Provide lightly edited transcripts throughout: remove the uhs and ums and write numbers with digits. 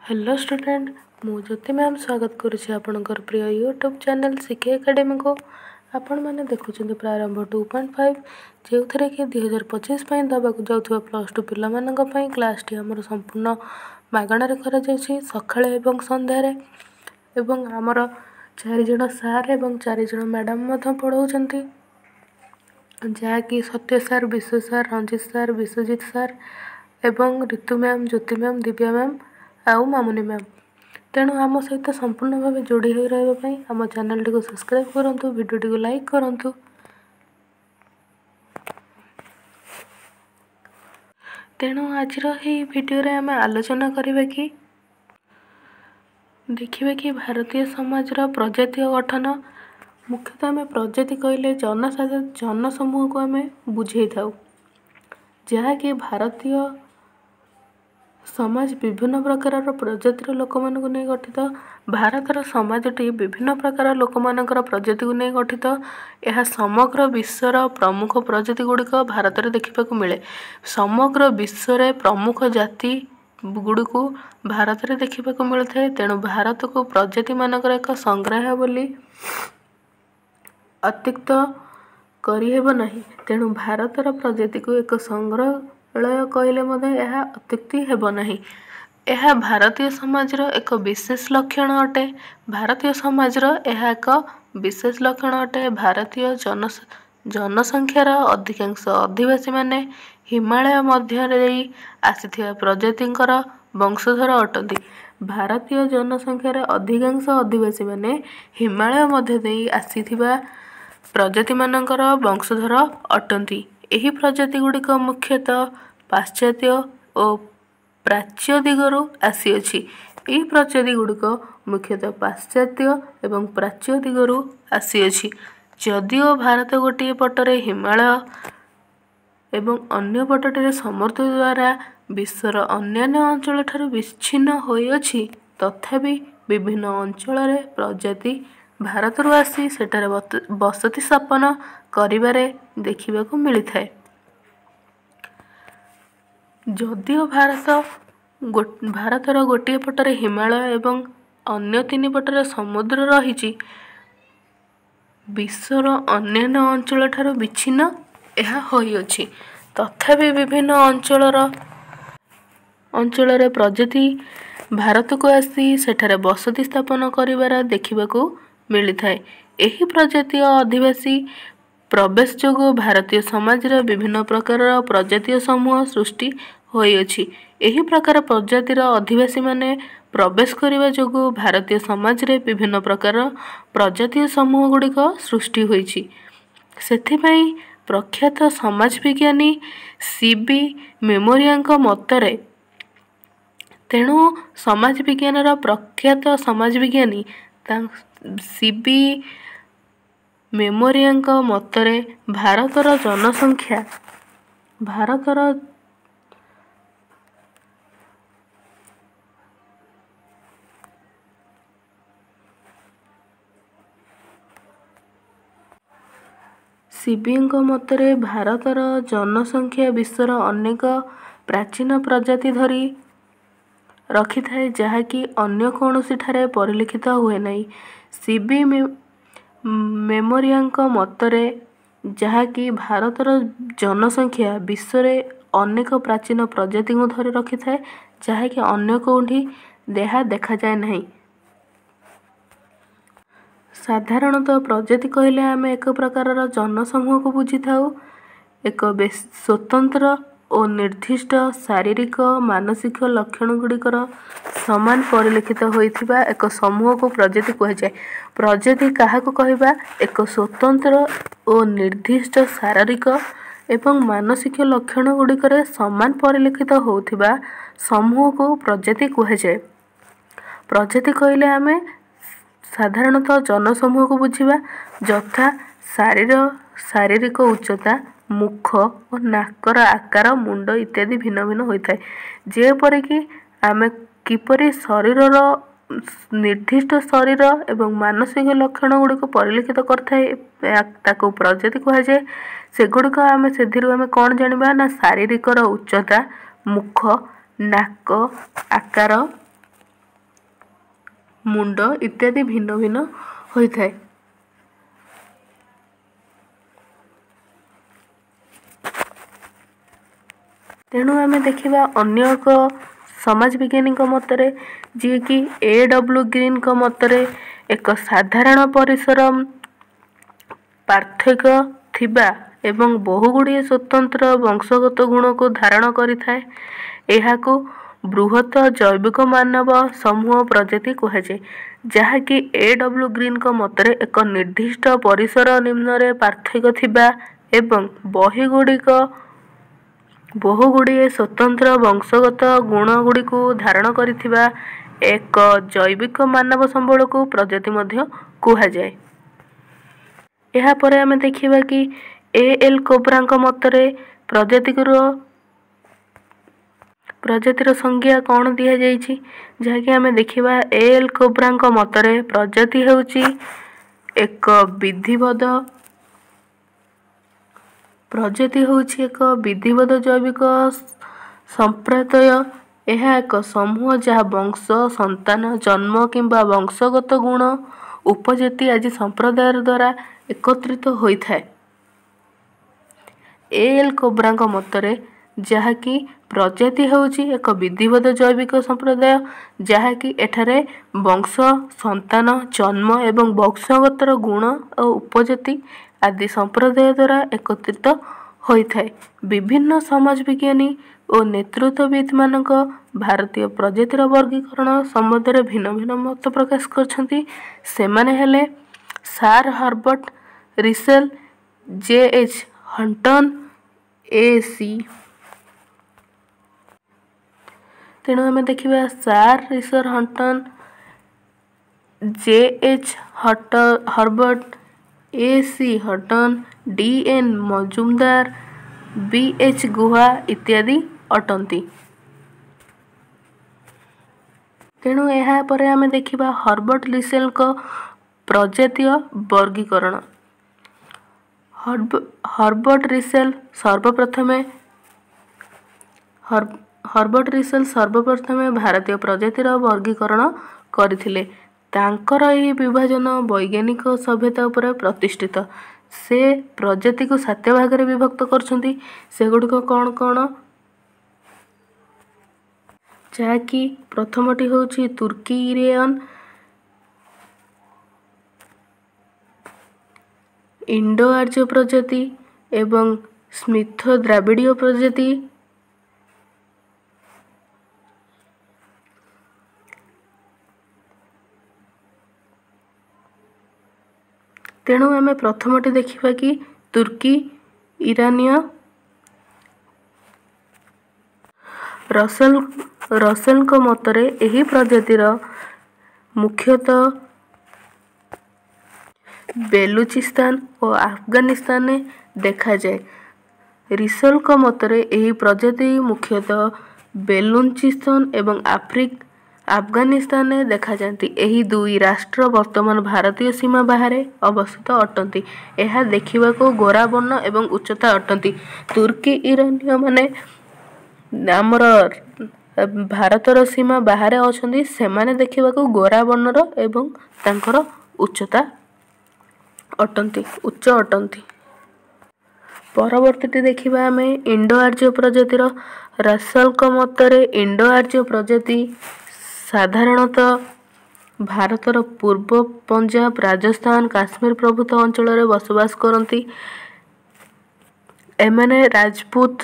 Hello student, ମୁଁ Jyoti ma'am ସ୍ୱାଗତ କରୁଛି ଆପଣଙ୍କର ପ୍ରିୟ ୟୁଟ୍ୟୁବ୍ ଚ୍ୟାନେଲ୍ ସିକେ ଏକାଡେମୀକୁ। ଆପଣମାନେ ଦେଖୁଛନ୍ତି ପ୍ରାରମ୍ଭ 2.5, ଯେଉଁଥିରେ କି 2025 ପାଇଁ ଦେବାକୁ ଯାଉଥିବା +2 ପିଲାମାନଙ୍କ ପାଇଁ କ୍ଲାସ୍ଟି ଆମର ସମ୍ପୂର୍ଣ୍ଣ ମାଗଣାରେ କରାଯାଉଛି ସକାଳେ ଏବଂ ସନ୍ଧ୍ୟାରେ। ଏବଂ ଆମର 4 ଜଣ ସାର୍ ଏବଂ 4 ଜଣ ମ୍ୟାଡ଼ାମ୍ ମଧ୍ୟ ପଢ଼ାଉଛନ୍ତି, ଯାହାକି ସତ୍ୟ ସାର୍, ବିଶ୍ୱ ସାର୍, ରଞ୍ଜିତ ସାର୍, ବିଶ୍ୱଜିତ ସାର୍ ଏବଂ Ritu ma'am, Jyoti ma'am, Divya ma'am ଆଉ ମାମୁନି ମ୍ୟାମ୍। ତେଣୁ ଆମ ସହିତ ସମ୍ପୂର୍ଣ୍ଣ ଭାବେ ଯୋଡ଼ି ହୋଇ ରହିବା ପାଇଁ ଆମ ଚ୍ୟାନେଲଟିକୁ ସବସ୍କ୍ରାଇବ୍ କରନ୍ତୁ, ଭିଡ଼ିଓଟିକୁ ଲାଇକ୍ କରନ୍ତୁ। ତେଣୁ ଆଜିର ଏହି ଭିଡ଼ିଓରେ ଆମେ ଆଲୋଚନା କରିବା କି ଦେଖିବା କି ଭାରତୀୟ ସମାଜର ପ୍ରଜାତୀୟ ଗଠନ। ମୁଖ୍ୟତଃ ଆମେ ପ୍ରଜାତି କହିଲେ ଜନସମୂହକୁ ଆମେ ବୁଝେଇଥାଉ, ଯାହାକି ଭାରତୀୟ ସମାଜ ବିଭିନ୍ନ ପ୍ରକାରର ପ୍ରଜାତିର ଲୋକମାନଙ୍କୁ ନେଇ ଗଠିତ। ଭାରତର ସମାଜଟି ବିଭିନ୍ନ ପ୍ରକାର ଲୋକମାନଙ୍କର ପ୍ରଜାତିକୁ ନେଇ ଗଠିତ। ଏହା ସମଗ୍ର ବିଶ୍ୱର ପ୍ରମୁଖ ପ୍ରଜାତି ଗୁଡ଼ିକ ଭାରତରେ ଦେଖିବାକୁ ମିଳେ। ସମଗ୍ର ବିଶ୍ୱରେ ପ୍ରମୁଖ ଜାତି ଗୁଡ଼ିକୁ ଭାରତରେ ଦେଖିବାକୁ ମିଳିଥାଏ। ତେଣୁ ଭାରତକୁ ପ୍ରଜାତିମାନଙ୍କର ଏକ ସଂଗ୍ରହ ବୋଲି ଅତ୍ୟୁକ୍ତ କରିହେବ ନାହିଁ। ତେଣୁ ଭାରତର ପ୍ରଜାତିକୁ ଏକ ସଂଗ୍ରହାଳୟ କହିଲେ ମଧ୍ୟ ଏହା ଅତ୍ୟୁକ୍ତି ହେବ ନାହିଁ। ଏହା ଭାରତୀୟ ସମାଜର ଏକ ବିଶେଷ ଲକ୍ଷଣ ଅଟେ। ଭାରତୀୟ ସମାଜର ଏହା ଏକ ବିଶେଷ ଲକ୍ଷଣ ଅଟେ। ଭାରତୀୟ ଜନସଂଖ୍ୟାର ଅଧିକାଂଶ ଅଧିବାସୀମାନେ ହିମାଳୟ ମଧ୍ୟରେ ଦେଇ ଆସିଥିବା ପ୍ରଜାତିଙ୍କର ବଂଶଧର ଅଟନ୍ତି। ଭାରତୀୟ ଜନସଂଖ୍ୟାର ଅଧିକାଂଶ ଅଧିବାସୀମାନେ ହିମାଳୟ ମଧ୍ୟ ଦେଇ ଆସିଥିବା ପ୍ରଜାତିମାନଙ୍କର ବଂଶଧର ଅଟନ୍ତି। ଏହି ପ୍ରଜାତି ଗୁଡ଼ିକ ମୁଖ୍ୟତଃ ପାଶ୍ଚାତ୍ୟ ଓ ପ୍ରାଚ୍ୟ ଦିଗରୁ ଆସିଅଛି। ଏହି ପ୍ରଜାତି ଗୁଡ଼ିକ ମୁଖ୍ୟତଃ ପାଶ୍ଚାତ୍ୟ ଏବଂ ପ୍ରାଚ୍ୟ ଦିଗରୁ ଆସିଅଛି। ଯଦିଓ ଭାରତ ଗୋଟିଏ ପଟରେ ହିମାଳୟ ଏବଂ ଅନ୍ୟ ପଟଟିରେ ସମୁଦ୍ର ଦ୍ୱାରା ବିଶ୍ୱର ଅନ୍ୟାନ୍ୟ ଅଞ୍ଚଳଠାରୁ ବିଚ୍ଛିନ୍ନ ହୋଇଅଛି, ତଥାପି ବିଭିନ୍ନ ଅଞ୍ଚଳରେ ପ୍ରଜାତି ଭାରତରୁ ଆସି ସେଠାରେ ବସତି ସ୍ଥାପନ କରିବାରେ ଦେଖିବାକୁ ମିଳିଥାଏ। ଯଦିଓ ଭାରତର ଗୋଟିଏ ପଟରେ ହିମାଳୟ ଏବଂ ଅନ୍ୟ ତିନି ପଟରେ ସମୁଦ୍ର ରହିଛି, ବିଶ୍ୱର ଅନ୍ୟାନ୍ୟ ଅଞ୍ଚଳଠାରୁ ବିଚ୍ଛିନ୍ନ ଏହା ହୋଇଅଛି, ତଥାପି ବିଭିନ୍ନ ଅଞ୍ଚଳରେ ପ୍ରଜାତି ଭାରତକୁ ଆସି ସେଠାରେ ବସତି ସ୍ଥାପନ କରିବାର ଦେଖିବାକୁ ମିଳିଥାଏ। ଏହି ପ୍ରଜାତୀୟ ଅଧିବାସୀ ପ୍ରବେଶ ଯୋଗୁଁ ଭାରତୀୟ ସମାଜରେ ବିଭିନ୍ନ ପ୍ରକାରର ପ୍ରଜାତୀୟ ସମୂହ ସୃଷ୍ଟି ହୋଇଅଛି। ଏହି ପ୍ରକାର ପ୍ରଜାତିର ଅଧିବାସୀମାନେ ପ୍ରବେଶ କରିବା ଯୋଗୁଁ ଭାରତୀୟ ସମାଜରେ ବିଭିନ୍ନ ପ୍ରକାର ପ୍ରଜାତୀୟ ସମୂହ ଗୁଡ଼ିକ ସୃଷ୍ଟି ହୋଇଛି। ସେଥିପାଇଁ ପ୍ରଖ୍ୟାତ ସମାଜ ବିଜ୍ଞାନୀ ସି ବି ମେମୋରିଆଙ୍କ ମତରେ, ତେଣୁ ସମାଜ ବିଜ୍ଞାନର ପ୍ରଖ୍ୟାତ ସମାଜ ବିଜ୍ଞାନୀ ସି ବି ମେମୋରିଆଙ୍କ ମତରେ ଭାରତର ଜନସଂଖ୍ୟା ଭାରତର ସିବିଙ୍କ ମତରେ ଭାରତର ଜନସଂଖ୍ୟା ବିଶ୍ୱର ଅନେକ ପ୍ରାଚୀନ ପ୍ରଜାତି ଧରି ରଖିଥାଏ, ଯାହାକି ଅନ୍ୟ କୌଣସିଠାରେ ପରିଲକ୍ଷିତ ହୁଏ ନାହିଁ। ସି ବି ମେମୋରିଆଙ୍କ ମତରେ ଯାହାକି ଭାରତର ଜନସଂଖ୍ୟା ବିଶ୍ୱରେ ଅନେକ ପ୍ରାଚୀନ ପ୍ରଜାତିଙ୍କୁ ଧରି ରଖିଥାଏ, ଯାହାକି ଅନ୍ୟ କେଉଁଠି ଏହା ଦେଖାଯାଏ ନାହିଁ। ସାଧାରଣତଃ ପ୍ରଜାତି କହିଲେ ଆମେ ଏକ ପ୍ରକାରର ଜନସମୂହକୁ ବୁଝିଥାଉ। ଏକ ସ୍ୱତନ୍ତ୍ର ଓ ନିର୍ଦ୍ଦିଷ୍ଟ ଶାରୀରିକ, ମାନସିକ ଲକ୍ଷଣ ଗୁଡ଼ିକର ସମାନ ପରିଲକ୍ଷିତ ହୋଇଥିବା ଏକ ସମୂହକୁ ପ୍ରଜାତି କୁହାଯାଏ। ପ୍ରଜାତି କାହାକୁ କହିବା? ଏକ ସ୍ୱତନ୍ତ୍ର ଓ ନିର୍ଦ୍ଦିଷ୍ଟ ଶାରୀରିକ ଏବଂ ମାନସିକ ଲକ୍ଷଣ ଗୁଡ଼ିକରେ ସମାନ ପରିଲକ୍ଷିତ ହେଉଥିବା ସମୂହକୁ ପ୍ରଜାତି କୁହାଯାଏ। ପ୍ରଜାତି କହିଲେ ଆମେ ସାଧାରଣତଃ ଜନସମୂହକୁ ବୁଝିବା, ଯଥା ଶାରୀରିକ ଉଚ୍ଚତା, ମୁଖ ଓ ନାକର ଆକାର, ମୁଣ୍ଡ ଇତ୍ୟାଦି ଭିନ୍ନ ଭିନ୍ନ ହୋଇଥାଏ। ଯେପରିକି ଆମେ କିପରି ଶରୀରର ନିର୍ଦ୍ଦିଷ୍ଟ ଶରୀର ଏବଂ ମାନସିକ ଲକ୍ଷଣ ଗୁଡ଼ିକୁ ପରିଲକ୍ଷିତ କରିଥାଏ, ତାକୁ ପ୍ରଜାତି କୁହାଯାଏ। ସେଗୁଡ଼ିକ ଆମେ ସେଥିରୁ ଆମେ କ'ଣ ଜାଣିବା ନା ଶାରୀରିକର ଉଚ୍ଚତା, ମୁଖ, ନାକ ଆକାର। ମୁଣ୍ଡ ଇତ୍ୟାଦି ଭିନ୍ନ ଭିନ୍ନ ହୋଇଥାଏ। ତେଣୁ ଆମେ ଦେଖିବା ଅନ୍ୟ ଏକ ସମାଜ ବିଜ୍ଞାନୀଙ୍କ ମତରେ, ଯିଏକି ଏ ଡବ୍ଲ୍ୟୁ ଗ୍ରୀନଙ୍କ ମତରେ ଏକ ସାଧାରଣ ପରିସର ପାର୍ଥକ୍ୟ ଥିବା ଏବଂ ବହୁଗୁଡ଼ିଏ ସ୍ୱତନ୍ତ୍ର ବଂଶଗତ ଗୁଣକୁ ଧାରଣ କରିଥାଏ, ଏହାକୁ ବୃହତ ଜୈବିକ ମାନବ ସମୂହ ପ୍ରଜାତି କୁହାଯାଏ। ଯାହାକି ଏ ଡବ୍ଲ୍ୟୁ ଗ୍ରୀନଙ୍କ ମତରେ ଏକ ନିର୍ଦ୍ଦିଷ୍ଟ ପରିସର ନିମ୍ନରେ ପାର୍ଥକ୍ୟ ଥିବା ଏବଂ ବହୁଗୁଡ଼ିଏ ସ୍ୱତନ୍ତ୍ର ବଂଶଗତ ଗୁଣଗୁଡ଼ିକୁ ଧାରଣ କରିଥିବା ଏକ ଜୈବିକ ମାନବ ସମ୍ବଳକୁ ପ୍ରଜାତି ମଧ୍ୟ କୁହାଯାଏ। ଏହାପରେ ଆମେ ଦେଖିବା କି ଏ ଏଲ୍ କୋବ୍ରାଙ୍କ ମତରେ ପ୍ରଜାତିର ସଂଜ୍ଞା କ'ଣ ଦିଆଯାଇଛି, ଯାହାକି ଆମେ ଦେଖିବା ଏ ଏଲ୍ କୋବ୍ରାଙ୍କ ମତରେ ପ୍ରଜାତି ହେଉଛି ଏକ ବିଧିବଦ୍ଧ ପ୍ରଜାତି ହେଉଛି ଏକ ବିଧିବଦ୍ଧ ଜୈବିକ ସମ୍ପ୍ରଦାୟ। ଏହା ଏକ ସମୂହ ଯାହା ବଂଶ, ସନ୍ତାନ, ଜନ୍ମ କିମ୍ବା ବଂଶଗତ ଗୁଣ, ଉପଜାତି ଆଦି ସମ୍ପ୍ରଦାୟ ଦ୍ୱାରା ଏକତ୍ରିତ ହୋଇଥାଏ। ଏ ଏଲ୍ କୋବ୍ରାଙ୍କ ମତରେ ଯାହାକି ପ୍ରଜାତି ହେଉଛି ଏକ ବିଧିବଦ୍ଧ ଜୈବିକ ସମ୍ପ୍ରଦାୟ, ଯାହାକି ଏଠାରେ ବଂଶ, ସନ୍ତାନ, ଜନ୍ମ ଏବଂ ବଂଶଗତର ଗୁଣ ଓ ଉପଜାତି ଆଦି ସମ୍ପ୍ରଦାୟ ଦ୍ୱାରା ଏକତ୍ରିତ ହୋଇଥାଏ। ବିଭିନ୍ନ ସମାଜ ବିଜ୍ଞାନୀ ଓ ନେତୃତ୍ୱବିତ୍ମାନଙ୍କ ଭାରତୀୟ ପ୍ରଜାତିର ବର୍ଗୀକରଣ ସମ୍ବନ୍ଧରେ ଭିନ୍ନ ଭିନ୍ନ ମତ ପ୍ରକାଶ କରିଛନ୍ତି। ସେମାନେ ହେଲେ sir Herbert Russell, J H Hutton, A C. ତେଣୁ ଆମେ ଦେଖିବା sir Russell Hutton, J H Herbert, A C Hutton, D N Majumdar, B H Guha ଇତ୍ୟାଦି ଅଟନ୍ତି। ତେଣୁ ଏହାପରେ ଆମେ ଦେଖିବା ହର୍ବର୍ଟ ରିସେଲଙ୍କ ପ୍ରଜାତୀୟ ବର୍ଗୀକରଣ। ହର୍ବର୍ଟ ରିସେଲ ସର୍ବପ୍ରଥମେ ଭାରତୀୟ ପ୍ରଜାତିର ବର୍ଗୀକରଣ କରିଥିଲେ। ତାଙ୍କର ଏହି ବିଭାଜନ ବୈଜ୍ଞାନିକ ସଭ୍ୟତା ଉପରେ ପ୍ରତିଷ୍ଠିତ। ସେ ପ୍ରଜାତିକୁ 7 ଭାଗରେ ବିଭକ୍ତ କରୁଛନ୍ତି। ସେଗୁଡ଼ିକ କ'ଣ କ'ଣ? ଯାହାକି ପ୍ରଥମଟି ହେଉଛି ତୁର୍କୀ ଇରାନିୟନ, ଇଣ୍ଡୋ ଆର୍ଯ୍ୟ ପ୍ରଜାତି ଏବଂ ସ୍ମିଥ ଦ୍ରାବିଡ଼ୀୟ ପ୍ରଜାତି। ତେଣୁ ଆମେ ପ୍ରଥମଟି ଦେଖିବା କି ତୁର୍କୀ ଇରାନୀୟ। ରସେଲଙ୍କ ମତରେ ଏହି ପ୍ରଜାତିର ମୁଖ୍ୟତଃ ବେଲୁଚିସ୍ତାନ ଓ ଆଫଗାନିସ୍ତାନରେ ଦେଖାଯାଏ। ରିସେଲଙ୍କ ମତରେ ଏହି ପ୍ରଜାତି ମୁଖ୍ୟତଃ ବେଲୁଚିସ୍ତାନ ଏବଂ ଆଫଗାନିସ୍ତାନରେ ଦେଖାଯାଆନ୍ତି। ଏହି ଦୁଇ ରାଷ୍ଟ୍ର ବର୍ତ୍ତମାନ ଭାରତୀୟ ସୀମା ବାହାରେ ଅବସ୍ଥିତ ଅଟନ୍ତି। ଏହା ଦେଖିବାକୁ ଗୋରା ବର୍ଣ୍ଣ ଏବଂ ଉଚ୍ଚତା ଅଟନ୍ତି। ତୁର୍କୀ ଇରାନୀୟମାନେ ଆମର ଭାରତର ସୀମା ବାହାରେ ଅଛନ୍ତି। ସେମାନେ ଦେଖିବାକୁ ଗୋରା ବର୍ଣ୍ଣର ଏବଂ ତାଙ୍କର ଉଚ୍ଚତା ଅଟନ୍ତି, ଉଚ୍ଚ ଅଟନ୍ତି। ପରବର୍ତ୍ତୀଟି ଦେଖିବା ଆମେ ଇଣ୍ଡୋ ଆର୍ଯ୍ୟ ପ୍ରଜାତିର। ରସେଲଙ୍କ ମତରେ ଇଣ୍ଡୋ ଆର୍ଯ୍ୟ ପ୍ରଜାତି ସାଧାରଣତଃ ଭାରତର ପୂର୍ବ ପଞ୍ଜାବ, ରାଜସ୍ଥାନ, କାଶ୍ମୀର ପ୍ରଭୃତି ଅଞ୍ଚଳରେ ବସବାସ କରନ୍ତି। ଏମାନେ ରାଜପୁତ,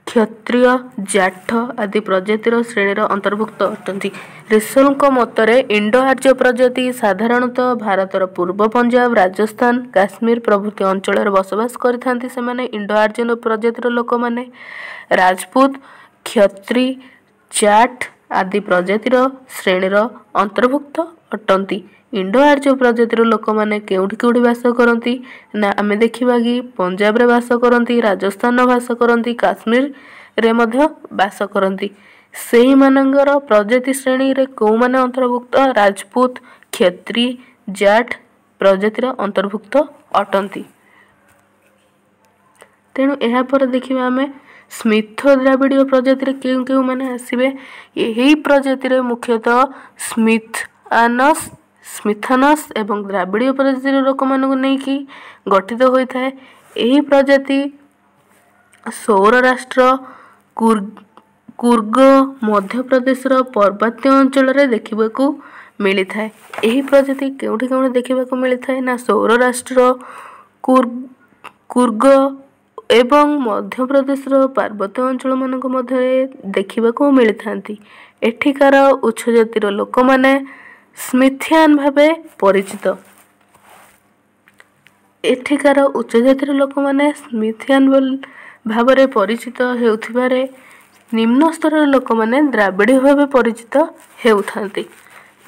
କ୍ଷତ୍ରିୟ, ଜାଠ ଆଦି ପ୍ରଜାତିର ଶ୍ରେଣୀର ଅନ୍ତର୍ଭୁକ୍ତ ଅଟନ୍ତି। ରିସେଲଙ୍କ ମତରେ ଇଣ୍ଡୋ ଆର୍ଯ୍ୟ ପ୍ରଜାତି ସାଧାରଣତଃ ଭାରତର ପୂର୍ବ ପଞ୍ଜାବ, ରାଜସ୍ଥାନ, କାଶ୍ମୀର ପ୍ରଭୃତି ଅଞ୍ଚଳରେ ବସବାସ କରିଥାନ୍ତି। ସେମାନେ ଇଣ୍ଡୋ ଆର୍ଯ୍ୟନ ପ୍ରଜାତିର ଲୋକମାନେ ରାଜପୁତ, କ୍ଷତ୍ରି, ଜାଠ ଆଦି ପ୍ରଜାତିର ଶ୍ରେଣୀର ଅନ୍ତର୍ଭୁକ୍ତ ଅଟନ୍ତି। ଇଣ୍ଡୋ ଆର୍ଯ୍ୟ ପ୍ରଜାତିର ଲୋକମାନେ କେଉଁଠି କେଉଁଠି ବାସ କରନ୍ତି ନା ଆମେ ଦେଖିବା କି ପଞ୍ଜାବରେ ବାସ କରନ୍ତି, ରାଜସ୍ଥାନରେ ବାସ କରନ୍ତି, କାଶ୍ମୀରରେ ମଧ୍ୟ ବାସ କରନ୍ତି। ସେଇମାନଙ୍କର ପ୍ରଜାତି ଶ୍ରେଣୀରେ କେଉଁମାନେ ଅନ୍ତର୍ଭୁକ୍ତ? ରାଜପୁତ, କ୍ଷତ୍ରି, ଜାଠ ପ୍ରଜାତିର ଅନ୍ତର୍ଭୁକ୍ତ ଅଟନ୍ତି। ତେଣୁ ଏହାପରେ ଦେଖିବା ଆମେ ସ୍ମିଥ ଦ୍ରାବିଡ଼ୀୟ ପ୍ରଜାତିରେ କେଉଁ କେଉଁମାନେ ଆସିବେ। ଏହି ପ୍ରଜାତିରେ ମୁଖ୍ୟତଃ ସ୍ମିଥ ଆନସ୍, ସ୍ମିଥାନସ୍ ଏବଂ ଦ୍ରାବିଡ଼ୀୟ ପ୍ରଜାତିର ଲୋକମାନଙ୍କୁ ନେଇକି ଗଠିତ ହୋଇଥାଏ। ଏହି ପ୍ରଜାତି ସୌରରାଷ୍ଟ୍ର, କୁର୍ଗ, ମଧ୍ୟପ୍ରଦେଶର ପାର୍ବତ୍ୟ ଅଞ୍ଚଳରେ ଦେଖିବାକୁ ମିଳିଥାଏ। ଏହି ପ୍ରଜାତି କେଉଁଠି କେଉଁଠି ଦେଖିବାକୁ ମିଳିଥାଏ ନା ସୌରରାଷ୍ଟ୍ର, କୁର୍ଗ ଏବଂ ମଧ୍ୟପ୍ରଦେଶର ପାର୍ବତ୍ୟ ଅଞ୍ଚଳମାନଙ୍କ ମଧ୍ୟରେ ଦେଖିବାକୁ ମିଳିଥାନ୍ତି। ଏଠିକାର ଉଚ୍ଚ ଜାତିର ଲୋକମାନେ ସ୍ମିଥିଆନ ଭାବେ ପରିଚିତ। ଏଠିକାର ଉଚ୍ଚ ଜାତିର ଲୋକମାନେ ସ୍ମିଥିଆନ ଭାବରେ ପରିଚିତ ହେଉଥିବାରେ ନିମ୍ନ ସ୍ତରର ଲୋକମାନେ ଦ୍ରାବିଡ଼ୀୟ ଭାବେ ପରିଚିତ ହେଉଥାନ୍ତି।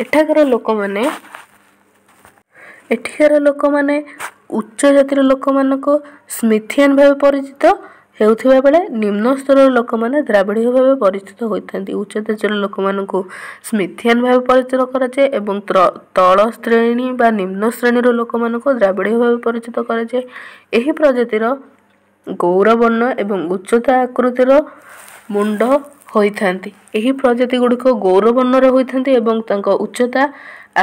ଏଠାକାର ଲୋକମାନେ ଉଚ୍ଚ ଜାତିର ଲୋକମାନଙ୍କୁ ସ୍ମିଥିଆନ ଭାବେ ପରିଚିତ ହେଉଥିବା ବେଳେ ନିମ୍ନ ସ୍ତରର ଲୋକମାନେ ଦ୍ରାବିଡ଼ୀୟ ଭାବେ ପରିଚିତ ହୋଇଥାନ୍ତି। ଉଚ୍ଚ ଜାତିର ଲୋକମାନଙ୍କୁ ସ୍ମିଥିଆନ ଭାବେ ପରିଚିତ କରାଯାଏ ଏବଂ ତଳ ଶ୍ରେଣୀ ବା ନିମ୍ନ ଶ୍ରେଣୀର ଲୋକମାନଙ୍କୁ ଦ୍ରାବିଡ଼ୀୟ ଭାବେ ପରିଚିତ କରାଯାଏ। ଏହି ପ୍ରଜାତିର ଗୌରବର୍ଣ୍ଣ ଏବଂ ଉଚ୍ଚତା ଆକୃତିର ମୁଣ୍ଡ ହୋଇଥାନ୍ତି। ଏହି ପ୍ରଜାତି ଗୁଡ଼ିକ ଗୌରବର୍ଣ୍ଣର ହୋଇଥାନ୍ତି ଏବଂ ତାଙ୍କ ଉଚ୍ଚତା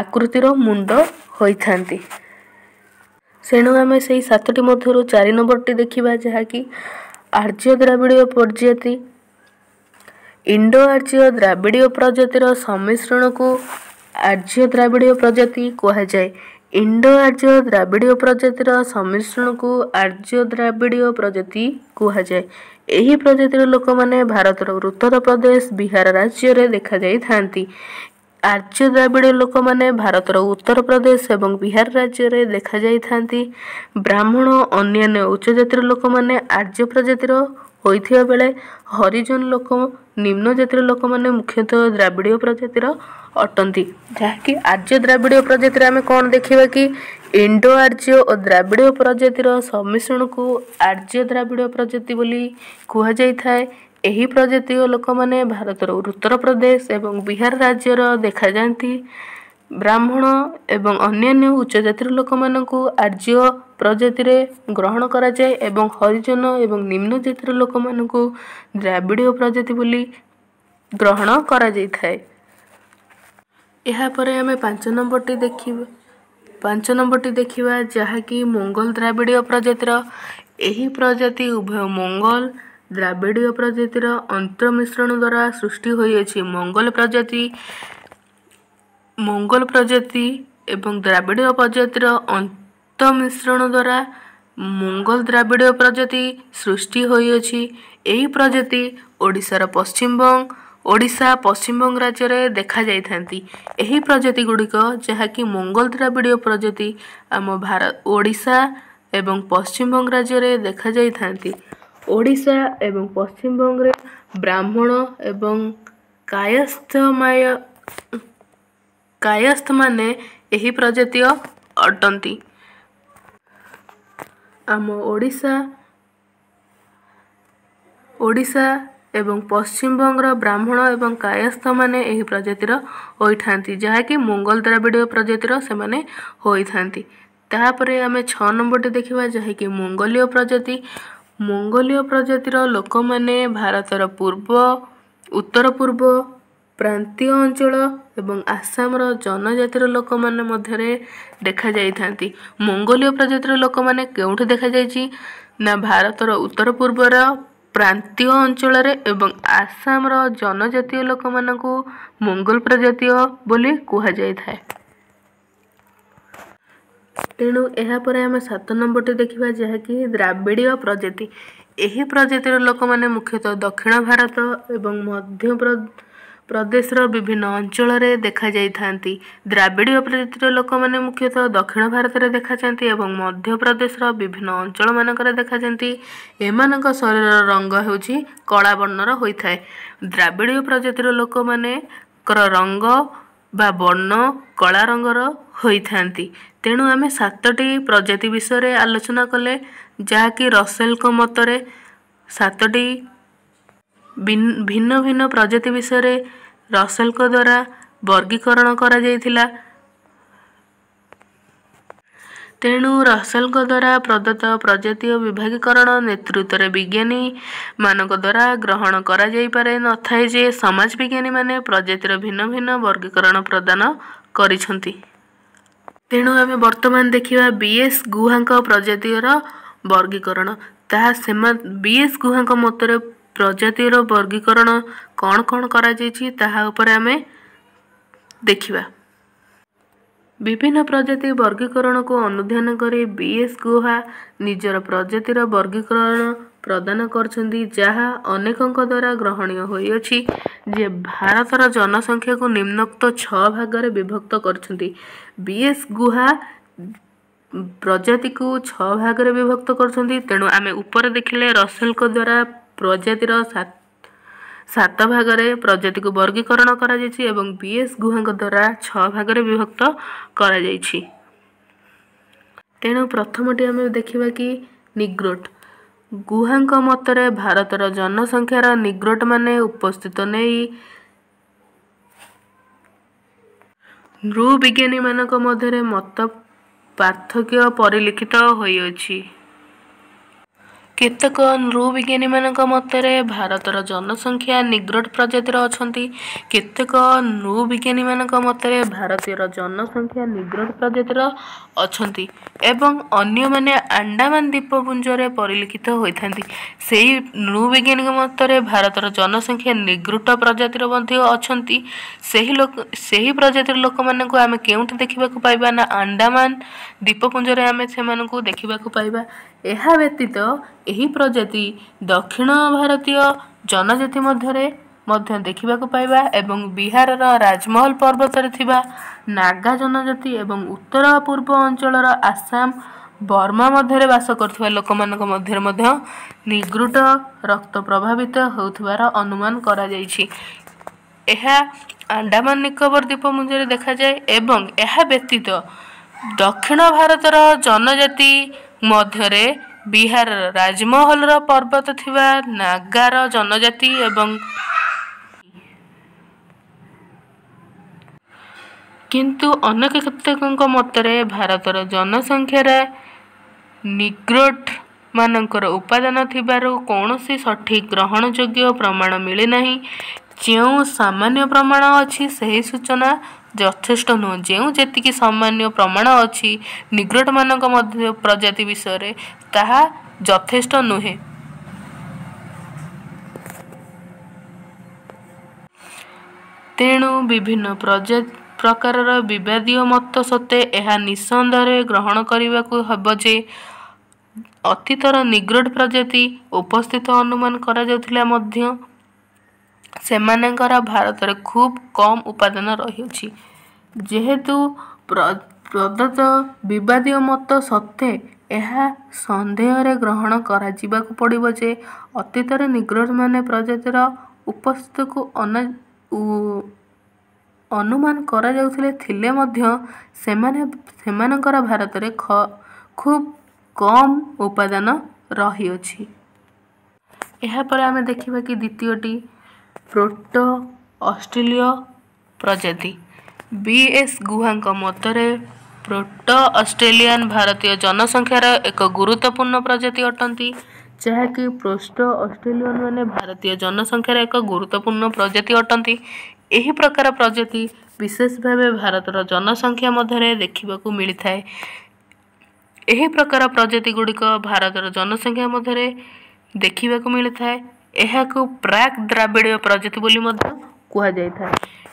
ଆକୃତିର ମୁଣ୍ଡ ହୋଇଥାନ୍ତି। ତେଣୁ ଆମେ ସେଇ 7ଟି ମଧ୍ୟରୁ 4 ନମ୍ବରଟି ଦେଖିବା, ଯାହାକି ଆର୍ଯ୍ୟ ଦ୍ରାବିଡ଼ୀୟ ପ୍ରଜାତି। ଇଣ୍ଡୋ ଆର୍ଯ୍ୟ ଦ୍ରାବିଡ଼ୀୟ ପ୍ରଜାତିର ସମ୍ମିଶ୍ରଣକୁ ଆର୍ଯ୍ୟ ଦ୍ରାବିଡ଼ୀୟ ପ୍ରଜାତି କୁହାଯାଏ। ଇଣ୍ଡୋ ଆର୍ଯ୍ୟ ଦ୍ରାବିଡ଼ୀୟ ପ୍ରଜାତିର ସମ୍ମିଶ୍ରଣକୁ ଆର୍ଯ୍ୟ ଦ୍ରାବିଡ଼ୀୟ ପ୍ରଜାତି କୁହାଯାଏ। ଏହି ପ୍ରଜାତିର ଲୋକମାନେ ଭାରତର ଉତ୍ତରପ୍ରଦେଶ, ବିହାର ରାଜ୍ୟରେ ଦେଖାଯାଇଥାନ୍ତି। ଆର୍ଯ୍ୟ ଦ୍ରାବିଡ଼ୀୟ ଲୋକମାନେ ଭାରତର ଉତ୍ତରପ୍ରଦେଶ ଏବଂ ବିହାର ରାଜ୍ୟରେ ଦେଖାଯାଇଥାନ୍ତି। ବ୍ରାହ୍ମଣ, ଅନ୍ୟାନ୍ୟ ଉଚ୍ଚ ଜାତିର ଲୋକମାନେ ଆର୍ଯ୍ୟ ପ୍ରଜାତିର ହୋଇଥିବା ବେଳେ ହରିଜନ ଲୋକ, ନିମ୍ନ ଜାତିର ଲୋକମାନେ ମୁଖ୍ୟତଃ ଦ୍ରାବିଡ଼ୀୟ ପ୍ରଜାତିର ଅଟନ୍ତି। ଯାହାକି ଆର୍ଯ୍ୟ ଦ୍ରାବିଡ଼ୀୟ ପ୍ରଜାତିରେ ଆମେ କ'ଣ ଦେଖିବା କି ଇଣ୍ଡୋ ଆର୍ଯ୍ୟ ଓ ଦ୍ରାବିଡ଼ୀୟ ପ୍ରଜାତିର ସମ୍ମିଶ୍ରଣକୁ ଆର୍ଯ୍ୟ ଦ୍ରାବିଡ଼ୀୟ ପ୍ରଜାତି ବୋଲି କୁହାଯାଇଥାଏ। ଏହି ପ୍ରଜାତିର ଲୋକମାନେ ଭାରତର ଉତ୍ତରପ୍ରଦେଶ ଏବଂ ବିହାର ରାଜ୍ୟର ଦେଖାଯାଆନ୍ତି। ବ୍ରାହ୍ମଣ ଏବଂ ଅନ୍ୟାନ୍ୟ ଉଚ୍ଚ ଜାତିର ଲୋକମାନଙ୍କୁ ଆର୍ଯ୍ୟ ପ୍ରଜାତିରେ ଗ୍ରହଣ କରାଯାଏ ଏବଂ ହରିଜନ ଏବଂ ନିମ୍ନ ଜାତିର ଲୋକମାନଙ୍କୁ ଦ୍ରାବିଡ଼ୀୟ ପ୍ରଜାତି ବୋଲି ଗ୍ରହଣ କରାଯାଇଥାଏ। ଏହାପରେ ଆମେ 5 ନମ୍ବରଟି ଦେଖିବା। 5 ନମ୍ବରଟି ଦେଖିବା, ଯାହାକି ମୋଙ୍ଗଲ ଦ୍ରାବିଡ଼ୀୟ ପ୍ରଜାତିର। ଏହି ପ୍ରଜାତି ଉଭୟ ମୋଙ୍ଗଲ ଦ୍ରାବିଡ଼ୀୟ ପ୍ରଜାତିର ଅନ୍ତର୍ମିଶ୍ରଣ ଦ୍ୱାରା ସୃଷ୍ଟି ହୋଇଅଛି। ମୋଙ୍ଗଲ ପ୍ରଜାତି ଏବଂ ଦ୍ରାବିଡ଼ୀୟ ପ୍ରଜାତିର ଅନ୍ତଃମିଶ୍ରଣ ଦ୍ୱାରା ମୋଙ୍ଗଲ ଦ୍ରାବିଡ଼ୀୟ ପ୍ରଜାତି ସୃଷ୍ଟି ହୋଇଅଛି। ଏହି ପ୍ରଜାତି ଓଡ଼ିଶାର ପଶ୍ଚିମବଙ୍ଗ, ଓଡ଼ିଶା, ପଶ୍ଚିମବଙ୍ଗ ରାଜ୍ୟରେ ଦେଖାଯାଇଥାନ୍ତି। ଏହି ପ୍ରଜାତି ଗୁଡ଼ିକ, ଯାହାକି ମୋଙ୍ଗଲ ଦ୍ରାବିଡ଼ୀୟ ପ୍ରଜାତି, ଆମ ଓଡ଼ିଶା ଏବଂ ପଶ୍ଚିମବଙ୍ଗ ରାଜ୍ୟରେ ଦେଖାଯାଇଥାନ୍ତି। ଓଡ଼ିଶା ଏବଂ ପଶ୍ଚିମବଙ୍ଗରେ ବ୍ରାହ୍ମଣ ଏବଂ କାୟସ୍ଥମାନେ ଏହି ପ୍ରଜାତୀୟ ଅଟନ୍ତି। ଆମ ଓଡ଼ିଶା ଏବଂ ପଶ୍ଚିମବଙ୍ଗର ବ୍ରାହ୍ମଣ ଏବଂ କାୟସ୍ଥମାନେ ଏହି ପ୍ରଜାତିର ହୋଇଥାନ୍ତି, ଯାହାକି ମୋଙ୍ଗଲ ଦ୍ରାବିଡ଼ୀୟ ପ୍ରଜାତିର ସେମାନେ ହୋଇଥାନ୍ତି। ତାପରେ ଆମେ 6 ନମ୍ବରଟି ଦେଖିବା, ଯାହାକି ମଙ୍ଗୋଲୀୟ ପ୍ରଜାତି। ମଙ୍ଗୋଲୀୟ ପ୍ରଜାତିର ଲୋକମାନେ ଭାରତର ପୂର୍ବ, ଉତ୍ତର ପୂର୍ବ ପ୍ରାନ୍ତୀୟ ଅଞ୍ଚଳ ଏବଂ ଆସାମର ଜନଜାତିର ଲୋକମାନେ ମଧ୍ୟରେ ଦେଖାଯାଇଥାନ୍ତି। ମଙ୍ଗୋଲୀୟ ପ୍ରଜାତିର ଲୋକମାନେ କେଉଁଠି ଦେଖାଯାଇଛି ନା ଭାରତର ଉତ୍ତର ପୂର୍ବର ପ୍ରାନ୍ତୀୟ ଅଞ୍ଚଳରେ ଏବଂ ଆସାମର ଜନଜାତୀୟ ଲୋକମାନଙ୍କୁ ମଙ୍ଗୋଲ ପ୍ରଜାତୀୟ ବୋଲି କୁହାଯାଇଥାଏ। ତେଣୁ ଏହାପରେ ଆମେ 7 ନମ୍ବରଟି ଦେଖିବା, ଯାହାକି ଦ୍ରାବିଡ଼ୀୟ ପ୍ରଜାତି। ଏହି ପ୍ରଜାତିର ଲୋକମାନେ ମୁଖ୍ୟତଃ ଦକ୍ଷିଣ ଭାରତ ଏବଂ ମଧ୍ୟ ପ୍ରଦେଶର ବିଭିନ୍ନ ଅଞ୍ଚଳରେ ଦେଖାଯାଇଥାନ୍ତି। ଦ୍ରାବିଡ଼ୀୟ ପ୍ରଜାତିର ଲୋକମାନେ ମୁଖ୍ୟତଃ ଦକ୍ଷିଣ ଭାରତରେ ଦେଖାଯାଆନ୍ତି ଏବଂ ମଧ୍ୟପ୍ରଦେଶର ବିଭିନ୍ନ ଅଞ୍ଚଳମାନଙ୍କରେ ଦେଖାଯାଆନ୍ତି। ଏମାନଙ୍କ ଶରୀରର ରଙ୍ଗ ହେଉଛି କଳା ବର୍ଣ୍ଣର ହୋଇଥାଏ। ଦ୍ରାବିଡ଼ୀୟ ପ୍ରଜାତିର ଲୋକମାନଙ୍କର ରଙ୍ଗ ବା ବର୍ଣ୍ଣ କଳା ରଙ୍ଗର ହୋଇଥାନ୍ତି। ତେଣୁ ଆମେ 7ଟି ପ୍ରଜାତି ବିଷୟରେ ଆଲୋଚନା କଲେ, ଯାହାକି ରସେଲଙ୍କ ମତରେ 7ଟି ଭିନ୍ନ ଭିନ୍ନ ପ୍ରଜାତି ବିଷୟରେ ରସେଲଙ୍କ ଦ୍ୱାରା ବର୍ଗୀକରଣ କରାଯାଇଥିଲା। ତେଣୁ ରସେଲଙ୍କ ଦ୍ୱାରା ପ୍ରଦତ୍ତ ପ୍ରଜାତୀୟ ବିଭାଗୀକରଣ ନେତୃତ୍ୱରେ ବିଜ୍ଞାନୀମାନଙ୍କ ଦ୍ୱାରା ଗ୍ରହଣ କରାଯାଇପାରି ନଥାଏ ଯେ ସମାଜ ବିଜ୍ଞାନୀମାନେ ପ୍ରଜାତିର ଭିନ୍ନ ଭିନ୍ନ ବର୍ଗୀକରଣ ପ୍ରଦାନ କରିଛନ୍ତି। ତେଣୁ ଆମେ ବର୍ତ୍ତମାନ ଦେଖିବା ବି ଏସ୍ ଗୁହାଙ୍କ ପ୍ରଜାତିର ବର୍ଗୀକରଣ। ତାହା ବି ଏସ୍ ଗୁହାଙ୍କ ମତରେ ପ୍ରଜାତିର ବର୍ଗୀକରଣ କ'ଣ କ'ଣ କରାଯାଇଛି, ତାହା ଉପରେ ଆମେ ଦେଖିବା। ବିଭିନ୍ନ ପ୍ରଜାତି ବର୍ଗୀକରଣକୁ ଅନୁଧ୍ୟାନ କରି ବି ଏସ୍ ଗୁହା ନିଜର ପ୍ରଜାତିର ବର୍ଗୀକରଣ ପ୍ରଦାନ କରିଛନ୍ତି, ଯାହା ଅନେକଙ୍କ ଦ୍ୱାରା ଗ୍ରହଣୀୟ ହୋଇଅଛି ଯେ ଭାରତର ଜନସଂଖ୍ୟାକୁ ନିମ୍ନୋକ୍ତ 6 ଭାଗରେ ବିଭକ୍ତ କରିଛନ୍ତି। ବି ଏସ୍ ଗୁହା ପ୍ରଜାତିକୁ 6 ଭାଗରେ ବିଭକ୍ତ କରୁଛନ୍ତି। ତେଣୁ ଆମେ ଉପରେ ଦେଖିଲେ ରସେଲଙ୍କ ଦ୍ୱାରା ପ୍ରଜାତିର 7 ଭାଗରେ ପ୍ରଜାତିକୁ ବର୍ଗୀକରଣ କରାଯାଇଛି ଏବଂ ବି ଏସ୍ ଗୁହାଙ୍କ ଦ୍ୱାରା 6 ଭାଗରେ ବିଭକ୍ତ କରାଯାଇଛି। ତେଣୁ ପ୍ରଥମଟି ଆମେ ଦେଖିବା କି ନିଗ୍ରୋଟ। ଗୁହାଙ୍କ ମତରେ ଭାରତର ଜନସଂଖ୍ୟାର ନିଗ୍ରୋଟମାନେ ଉପସ୍ଥିତ ନେଇ ନୃବିଜ୍ଞାନୀମାନଙ୍କ ମଧ୍ୟରେ ମତ ପାର୍ଥକ୍ୟ ପରିଲକ୍ଷିତ ହୋଇଅଛି। କେତେକ ନୃବିଜ୍ଞାନୀମାନଙ୍କ ମତରେ ଭାରତର ଜନସଂଖ୍ୟା ନିଗ୍ରୋଟ ପ୍ରଜାତିର ଅଛନ୍ତି। କେତେକ ନୃବିଜ୍ଞାନୀମାନଙ୍କ ମତରେ ଭାରତୀୟର ଜନସଂଖ୍ୟା ନିଗ୍ରୋଟ ପ୍ରଜାତିର ଅଛନ୍ତି ଏବଂ ଅନ୍ୟମାନେ ଆଣ୍ଡାମାନ ଦ୍ୱୀପପୁଞ୍ଜରେ ପରିଲକ୍ଷିତ ହୋଇଥାନ୍ତି। ସେଇ ନୃବିଜ୍ଞାନୀଙ୍କ ମତରେ ଭାରତର ଜନସଂଖ୍ୟା ନିଗ୍ରୋଟ ପ୍ରଜାତିର ମଧ୍ୟ ଅଛନ୍ତି। ସେହି ଲୋକ, ସେହି ପ୍ରଜାତିର ଲୋକମାନଙ୍କୁ ଆମେ କେଉଁଠି ଦେଖିବାକୁ ପାଇବା ନା ଆଣ୍ଡାମାନ ଦ୍ୱୀପପୁଞ୍ଜରେ ଆମେ ସେମାନଙ୍କୁ ଦେଖିବାକୁ ପାଇବା। ଏହା ବ୍ୟତୀତ ଏହି ପ୍ରଜାତି ଦକ୍ଷିଣ ଭାରତୀୟ ଜନଜାତି ମଧ୍ୟରେ ମଧ୍ୟ ଦେଖିବାକୁ ପାଇବା ଏବଂ ବିହାରର ରାଜମହଲ ପର୍ବତରେ ଥିବା ନାଗା ଜନଜାତି ଏବଂ ଉତ୍ତର ପୂର୍ବ ଅଞ୍ଚଳର ଆସାମ, ବର୍ମା ମଧ୍ୟରେ ବାସ କରୁଥିବା ଲୋକମାନଙ୍କ ମଧ୍ୟରେ ମଧ୍ୟ ନିଗ୍ରୁଟ ରକ୍ତ ପ୍ରଭାବିତ ହେଉଥିବାର ଅନୁମାନ କରାଯାଇଛି। ଏହା ଆଣ୍ଡାମାନ ନିକୋବର ଦ୍ୱୀପପୁଞ୍ଜରେ ଦେଖାଯାଏ ଏବଂ ଏହା ବ୍ୟତୀତ ଦକ୍ଷିଣ ଭାରତର ଜନଜାତି ମଧ୍ୟରେ ବିହାରର ରାଜମହଲର ପର୍ବତ ଥିବା ନାଗାର ଜନଜାତି ଏବଂ କିନ୍ତୁ ଅନେକ କେତେକଙ୍କ ମତରେ ଭାରତର ଜନସଂଖ୍ୟାରେ ନିଗ୍ରୋଟ ମାନଙ୍କର ଉପାଦାନ ଥିବାରୁ କୌଣସି ସଠିକ ଗ୍ରହଣଯୋଗ୍ୟ ପ୍ରମାଣ ମିଳିନାହିଁ। ଯେଉଁ ସାମାନ୍ୟ ପ୍ରମାଣ ଅଛି, ସେହି ସୂଚନା ଯଥେଷ୍ଟ ନୁହେଁ। ଯେଉଁ ଯେତିକି ସାମାନ୍ୟ ପ୍ରମାଣ ଅଛି ନିଗ୍ରୋଟମାନଙ୍କ ମଧ୍ୟ ପ୍ରଜାତି ବିଷୟରେ, ତାହା ଯଥେଷ୍ଟ ନୁହେଁ। ତେଣୁ ବିଭିନ୍ନ ପ୍ରକାରର ବିବାଦୀୟ ମତ ସତ୍ତ୍ୱେ ଏହା ନିଃସନ୍ଦେହରେ ଗ୍ରହଣ କରିବାକୁ ହେବ ଯେ ଅତୀତର ନିଗ୍ରୋଟ ପ୍ରଜାତି ଉପସ୍ଥିତ ଅନୁମାନ କରାଯାଉଥିଲେ ମଧ୍ୟ ସେମାନଙ୍କର ଭାରତରେ ଖୁବ୍ କମ୍ ଉପାଦାନ ରହିଅଛି। ଯେହେତୁ ପ୍ରଦତ୍ତ ବିବାଦୀୟ ମତ ସତ୍ତ୍ୱେ ଏହା ସନ୍ଦେହରେ ଗ୍ରହଣ କରାଯିବାକୁ ପଡ଼ିବ ଯେ ଅତୀତରେ ନିଗ୍ରୋଟମାନେ ପ୍ରଜାତିର ଉପସ୍ଥିତିକୁ ଅନୁମାନ କରାଯାଉଥିଲେ ଥିଲେ ମଧ୍ୟ ସେମାନଙ୍କର ଭାରତରେ ଖୁବ୍ କମ୍ ଉପାଦାନ ରହିଅଛି। ଏହାପରେ ଆମେ ଦେଖିବା କି ଦ୍ୱିତୀୟଟି ପ୍ରୋଟୋ ଅଷ୍ଟ୍ରେଲୀୟ ପ୍ରଜାତି। ବି ଏସ୍ ଗୁହାଙ୍କ ମତରେ ପ୍ରୋଟୋ ଅଷ୍ଟ୍ରେଲିଆନ ଭାରତୀୟ ଜନସଂଖ୍ୟାର ଏକ ଗୁରୁତ୍ୱପୂର୍ଣ୍ଣ ପ୍ରଜାତି ଅଟନ୍ତି, ଯାହାକି ପ୍ରୋଟୋ ଅଷ୍ଟ୍ରେଲିଆନ ମାନେ ଭାରତୀୟ ଜନସଂଖ୍ୟାର ଏକ ଗୁରୁତ୍ୱପୂର୍ଣ୍ଣ ପ୍ରଜାତି ଅଟନ୍ତି। ଏହି ପ୍ରକାର ପ୍ରଜାତି ବିଶେଷ ଭାବେ ଭାରତର ଜନସଂଖ୍ୟା ମଧ୍ୟରେ ଦେଖିବାକୁ ମିଳିଥାଏ। ଏହି ପ୍ରକାର ପ୍ରଜାତି ଗୁଡ଼ିକ ଭାରତର ଜନସଂଖ୍ୟା ମଧ୍ୟରେ ଦେଖିବାକୁ ମିଳିଥାଏ। ଏହାକୁ ପ୍ରାକ୍ ଦ୍ରାବିଡ଼ୀୟ ପ୍ରଜାତି ବୋଲି ମଧ୍ୟ କୁହାଯାଇଥାଏ।